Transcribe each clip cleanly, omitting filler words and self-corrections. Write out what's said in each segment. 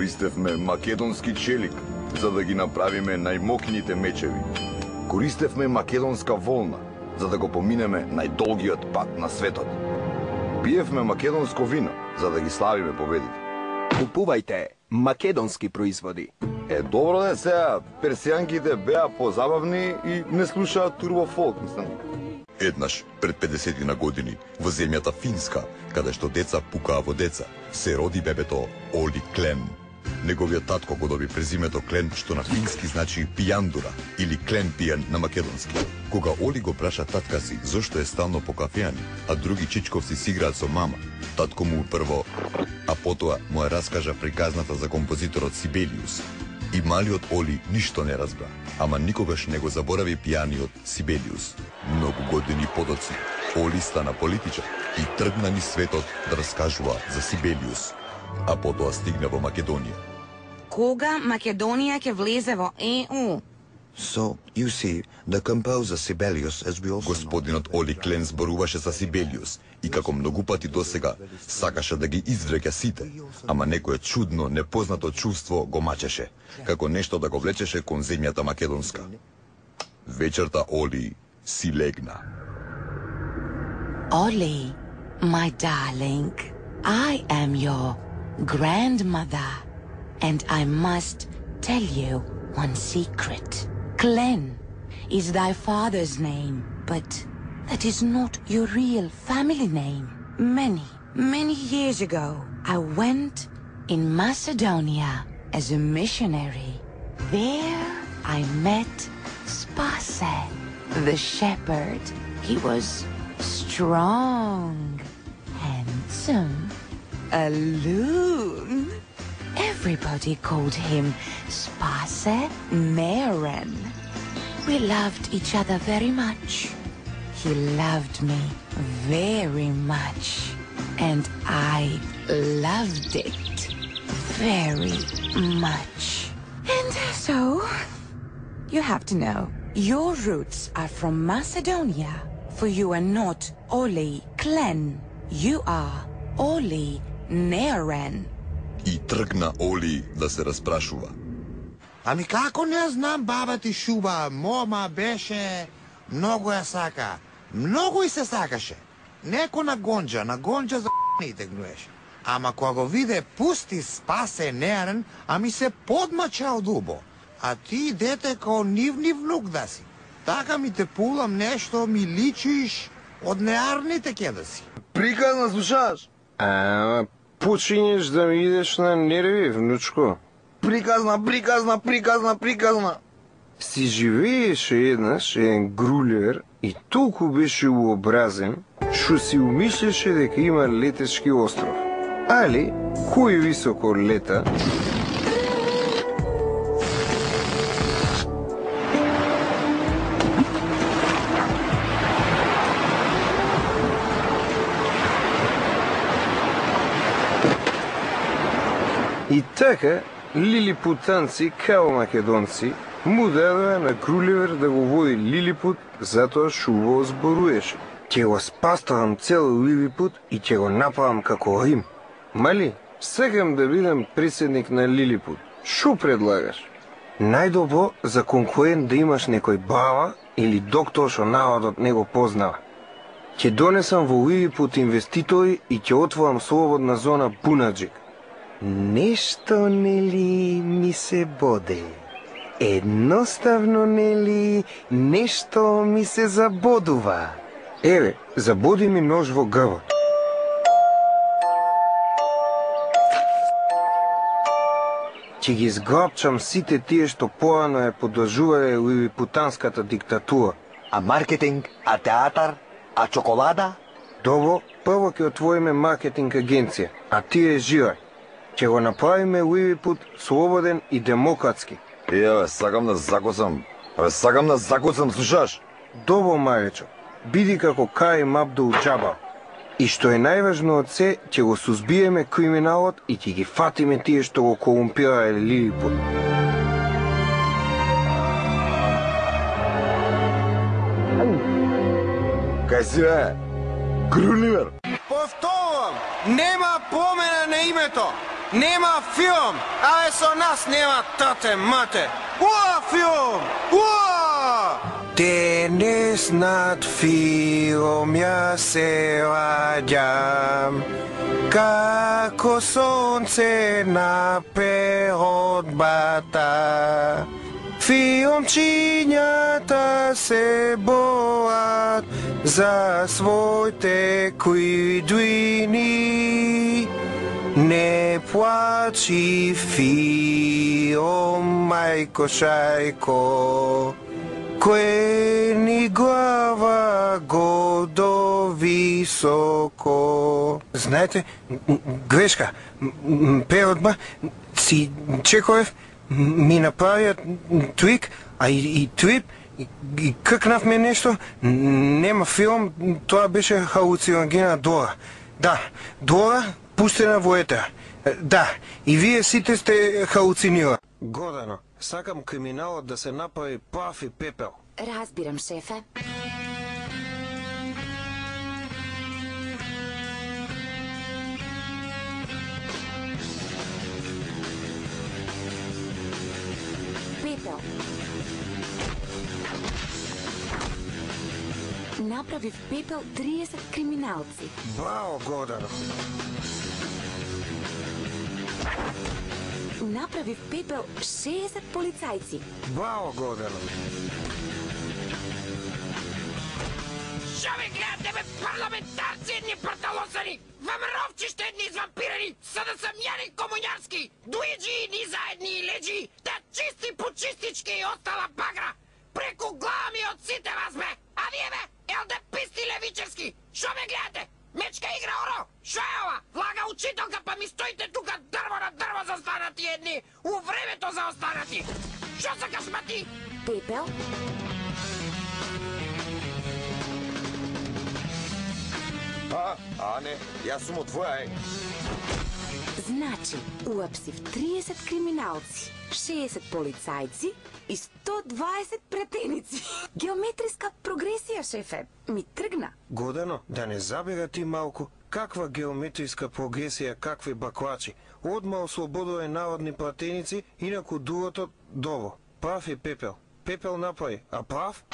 Користевме македонски челик, за да ги направиме најмокните мечеви. Користевме македонска волна, за да го поминеме најдолгиот пат на светот. Пиевме македонско вино, за да ги славиме победите. Купувајте македонски производи. Добро де сега, персијанките беа позабавни и не слушаат турбофолк, мислам. Еднаш, пред 50 на години, во земјата Финска, каде што деца пукаа во деца, се роди бебето Оли Клен. Неговиот татко го доби презимето Клен, што на фински значи пијандура, или Клен пијан на македонски. Кога Оли го праша татка си зошто е стално по кафеани, а други чичковци си играат со мама, татко му прво, а потоа му ја раскажа приказната за композиторот Сибелиус. И малиот Оли ништо не разбра, ама никогаш не го заборави пијаниот Сибелиус. Многу години подоци, Оли стана политичар и тргна низ светот да раскажува за Сибелиус, а потоа стигна во Македонија. Кога Македонија ќе влезе во ЕУ? So, you see, the composer Sibelius, as we also Господинот Оли Клен зборуваше за Сибелиус и како многу пати досега сакаше да ги извлека сите, ама некое чудно, непознато чувство го мачеше, како нешто да го влечеше кон земјата македонска. Вечерта Оли си легна. Oli, my darling, I am your grandmother, and I must tell you one secret. Glenn is thy father's name, but that is not your real family name. Many years ago, I went in Macedonia as a missionary. There I met Spase, the shepherd. He was strong, handsome, a loon. Everybody called him Spase Neren. We loved each other very much. He loved me very much, and I loved it very much. And so, you have to know, your roots are from Macedonia, for you are not Oli Klen. You are Oli Neren. И тргна Оли да се распрашува. Ами како не знам, баба ти Шуба, мома беше, многу ја сака, многу и се сакаше. Неко на гонџа за не тегнуеше. Ама кога го виде пусти Спасе Нерен, ами се подмача од убо. А ти дете као нивни внук да си. Така ми те пулам нешто, ми личиш од неарните ке да си. Приказна слушаш? Ама почињеш да ми идеш на нерви, внучко. Приказна. Си живееше еднаш еден грулер и толку беше уобразен, што си умислеше дека има летешки остров. Али, кој високо лета, и така, лилипутанци, као македонци, му дадоа на Груливер да го води Лилипут, затоа шуво зборуеше. Ќе го спаставам цел Лилипут и ќе го напавам како Рим. Мали, сакам да бидам председник на Лилипут. Шо предлагаш? Најдобро за конкурент да имаш некој баба или доктор што народот не го познава. Ќе донесам во Лилипут инвеститори и ќе отворам слободна зона Бунаджик. Нешто, нели, ми се боде. Едноставно, нели, нешто ми се забодува. Еве, забоди ми нож во грбот. Ќе ги зграбчам сите тие што порано ја подржувале лилипутанската диктатура. А маркетинг, а театар, а чоколада? Добро, прво ќе отвориме маркетинг агенција, а тие жирај. Ќе го направиме Лилипут слободен и демократски. Сакам да закоцам, слушаш? Добро, Маречо, биди како Карим Абдул Џабар. И што е најважно од се, ќе го сузбиеме криминалот и ќе ги фатиме тие што го корумпирале Лилипут. Кај си, Груливер? Повторам, нема помена на името. Нема филм, а со нас нема тате мате. Уа филм! Уа! Денес над филм ја се ваѓам, како сонце на перодбата. Филмчињата се боат за своите кујдуини. Не плачи филм, мајко шајко, кој ни глава гордо високо. Знаете, грешка, перодба, си Чековев ми направиат твик, а и трип, и кркнавме нешто, нема филм, тоа беше халуциногена Дора. Да, Дора пустена во етера. Да, и вие сите сте халуцинира. Гордано, сакам криминалот да се направи прав и пепел. Разбирам, шефе. Пепел. Направив пепел 30 криминалци. Браво, Гордано. Направив пепел 60 полицајци. Браво, Гордано. Шо ме гледате, бе, парламентарци, едни парталосани, вамровчиште, едни извампирани, са да съм Јани Комуњарски, дуиджи, ни заедни и леджи, да чисти почистички и остала багра. Преку глава ми од сите вас, бе, а вие, бе, ЛДПисти левичевски, шо ме гледате? Мечка игра оро, шо е ова? Влага учителка, па ми стоите тука дрво на дрво застанати едни, у времето заостанати. Шо сакаш, ма ти? Пепел? Не, јас сум од твоја, Значи, уапсив 30 криминалци, 60 полицајци и 120 претеници. Геометриска прогресија, шефе. Ми тргна. Гордано, да не забира ти малку, каква геометриска прогресија, какви баклачи. Одма ослободува народни пратеници, инаку другото дово. Прав е пепел. Пепел направи, а прав?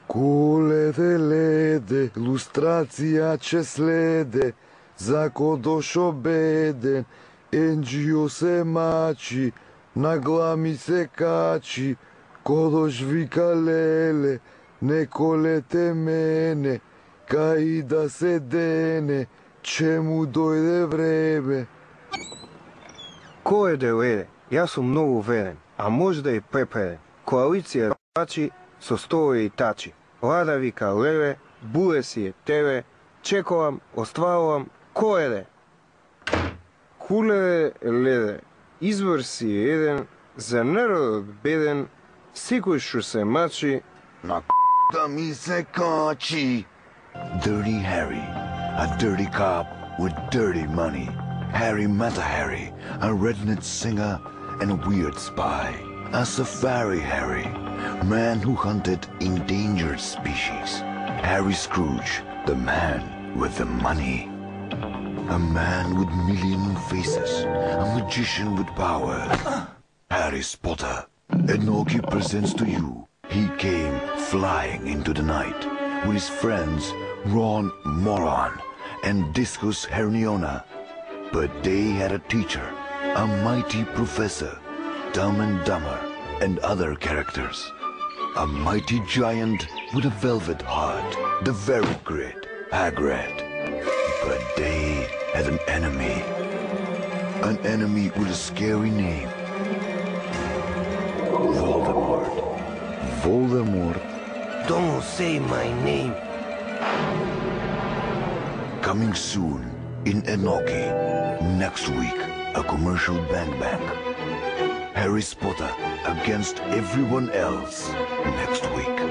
Коледе леде, лустрација че следе, за кодошо беден, енџио се мачи, на глами се качи, кодош вика леле, не колете мене, кај да се дене, че му дојде време. Кој е леде? Јас сум многу верен, а може да и препреден. Коалиција рачи со стои и тачи. Лада вика леле, буле си е теле, чекувам, остварувам, кој е? Куле леде, избор си е еден, за народот беден, секој што се мачи, На да ми се качи. Dirty Harry, a dirty cop with dirty money. Harry Mata Harry, a redneck singer and a weird spy. A safari Harry, man who hunted endangered species. Harry Scrooge, the man with the money. A man with million faces, a magician with power. Harry Potter. Enoki presents to you. He came flying into the night with his friends Ron Moron and Discus Hermione. But they had a teacher, a mighty professor, Dumb and Dumber, and other characters. A mighty giant with a velvet heart, the very great Hagrid. But they had an enemy with a scary name. Voldemort. Voldemort. don't say my name. Coming soon in Enoki. Next week, a commercial bang. Harry Potter against everyone else. Next week.